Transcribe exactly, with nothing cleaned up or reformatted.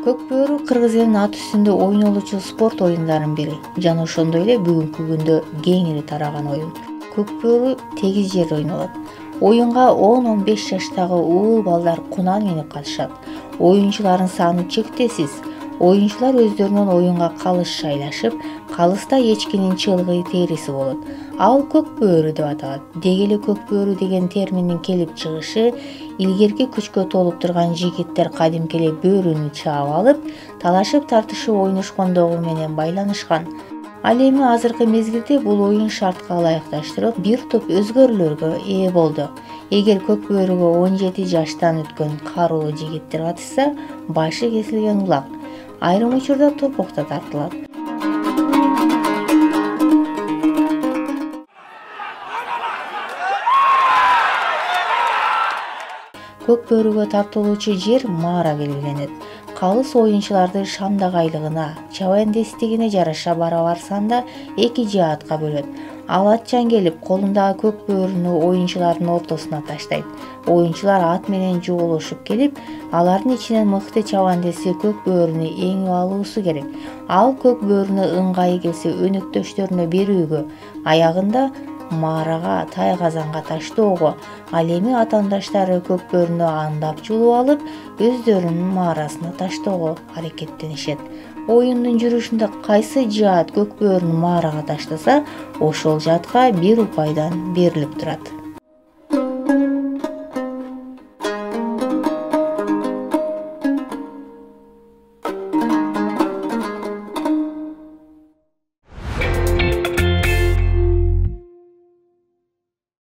Көк бөөрү Кыргыз элинин ат үстүндө ойнолуучу спорт оюндардын бири жана ошондой эле бүгүнкү күндө кеңири тараган оюн. Көк бөөрү тегиз жерде ойнолот. Оюнга он он беш жаштагы уул балдар кунан минип катышат. Оюнчулардын саны чектесиз. Оюнчулар өздөрүнүн оюнга калыс шайлашып, калыста эчкинин чылгый териси болот. Ал көк бөөрү деп аталат. Деги эле көк бөөрү деген терминдин келип чыгышы илгерки күчкө толуп турган жигиттер кадимки эле бөөрүнү чаап алып, талашып тартышып ойношкондугу менен байланышкан. Ал эми азыркы мезгилде бул оюн шартка ылайыкташтырылып, бир топ өзгөрүүлөргө ээ болду. Эгер көк бөөрүгө он жети жаштан өткөн карулуу жигиттер катышса, башы кесилген улак. Айрым учурда топок да тартылат. Көк бөөрүгө тартылуучу жер маара белгиленет. Калыс оюнчуларды шамдак айлыгына, чабандестигине жараша барабар санда эки жаатка бөлөт. Ал атчан келип, колундагы көк бөөрүнү оюнчулардын ортосуна таштайт. Оюнчулар ат менен жуголошуп келип, алардын ичинен мыкты чабандеси көк бөөрүнү эңип алуусу керек. Ал көк бөөрүнү ыңгайы келсе өнөктөштөрүнө берүүгө, аягында маарага, тай казанга таштоого, ал эми атаандаштары көк бөөрүнү андап жулуп алып, өздөрүнүн маарасына таштоого аракеттенишет. Оюндун жүрүшүндө кайсы жаат көк бөөрүнү маарага таштаса, ошол жаатка бир упайдан берилип турат.